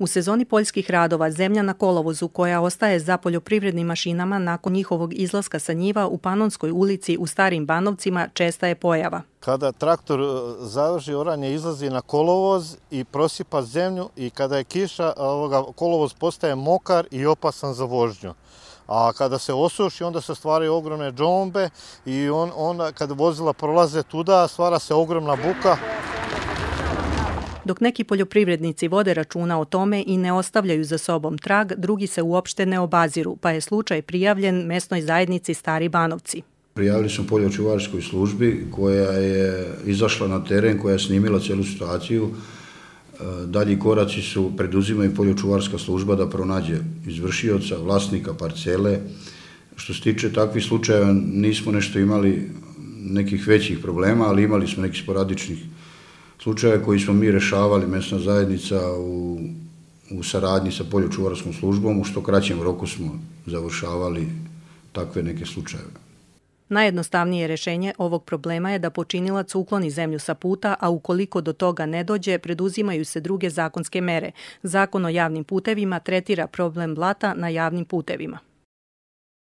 U sezoni poljskih radova zemlja na kolovozu koja ostaje za poljoprivrednim mašinama nakon njihovog izlaska sa njiva u Panonskoj ulici u Starim Banovcima česta je pojava. Kada traktor završi oranje, izlazi na kolovoz i prosipa zemlju i kada je kiša, kolovoz postaje mokar i opasan za vožnju. A kada se osuši, onda se stvaraju ogromne džombe i onda kad vozila prolaze tuda, stvara se ogromna buka. Dok neki poljoprivrednici vode računa o tome i ne ostavljaju za sobom trag, drugi se uopšte ne obaziru, pa je slučaj prijavljen mesnoj zajednici Stari Banovci. Prijavili smo poljočuvarskoj službi koja je izašla na teren, koja je snimila cijelu situaciju. Dalji koraci su preduzimaju poljočuvarska služba da pronađe izvršioca, vlasnika parcele. Što se tiče takvih slučajeva nismo nešto imali nekih većih problema, ali imali smo nekih sporadičnih slučajeva koji smo mi rešavali, mesna zajednica u saradnji sa poljočuvarskom službom, u što kraćem roku smo završavali takve neke slučajeve. Najjednostavnije rješenje ovog problema je da počinilac ukloni zemlju sa puta, a ukoliko do toga ne dođe, preduzimaju se druge zakonske mere. Zakon o javnim putevima tretira problem blata na javnim putevima.